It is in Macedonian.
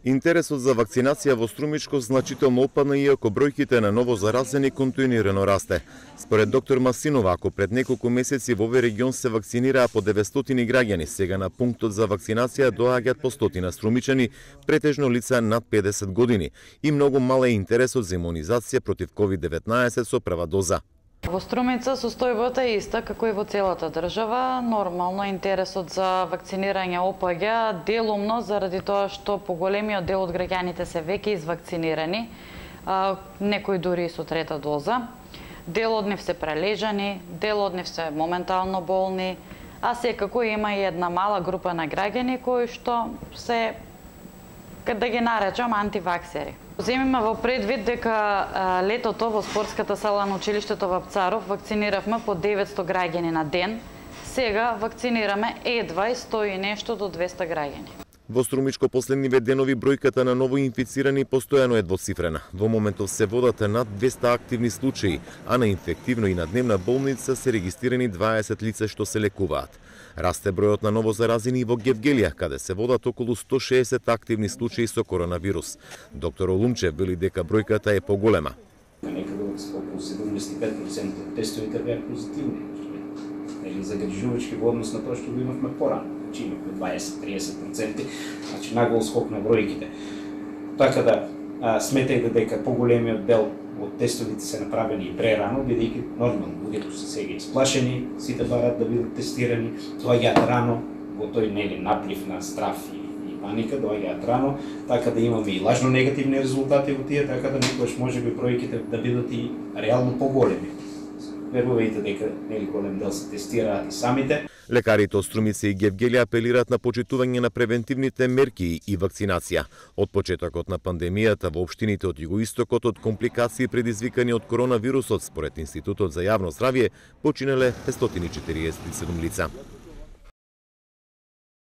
Интересот за вакцинација во Струмичко значително опадна, иако бројките на ново заразени континуирано расте. Според доктор Масинова, ако пред неколку месеци во овој регион се вакцинираа по 900 граѓани, сега на пунктот за вакцинација доаѓаат по 100 струмичани, претежно лица над 50 години, и многу мал е интересот за имунизација против COVID-19 со прва доза. Во Струмица состојбата е иста како и во целата држава. Нормално интересот за вакцинирање опаѓа делумно заради тоа што поголемиот дел од граѓаните се веќе извакцинирани, некои дури и со трета доза. Дел од нив се прележани, дел од нив се моментално болни, а секако има и една мала група на граѓани кои што се, да ги наречам, антиваксери. Земиме во предвид дека летото во спортската сала на училиштето во Апцаров вакциниравме по 900 граѓани на ден. Сега вакцинираме едва и 100 и нешто до 200 граѓани. Во Струмичко последниве денови бројката на ново инфицирани постојано е двоцифрена. Во моментов се водат над 200 активни случаи, а на инфективно и на дневна болница се регистрирани 20 лица што се лекуваат. Расте бројот на ново заразени во Гевгелија, каде се водат околу 160 активни случаи со коронавирус. Доктор Олумчев вели дека бројката е поголема. Некаде околу 75% од тестовите беа позитивни. Или загрижувачки во однос на тоа што го имавме порано. Значи имавме 20-30%, значи нагол скок на бројките. Така да сметајте дека поголемиот дел од тестовите се направени и прерано, бидејќи нормално луѓето се сега исплашени, сите барат да бидат тестирани, доаѓаат рано во тој наплив на страв и паника, доаѓаат рано, така да имаме и лажно негативни резултати во тие, така да некогаш можеби бројките да бидат и реално поголеми. Верувајте дека голем дел се тестираат и самите. Лекарите од Струмица и Гевгелија апелираат на почитување на превентивните мерки и вакцинација. Од почетокот на пандемијата во општините од југоистокот од компликации предизвикани од коронавирусот, според Институтот за јавно здравје, починале 547 лица.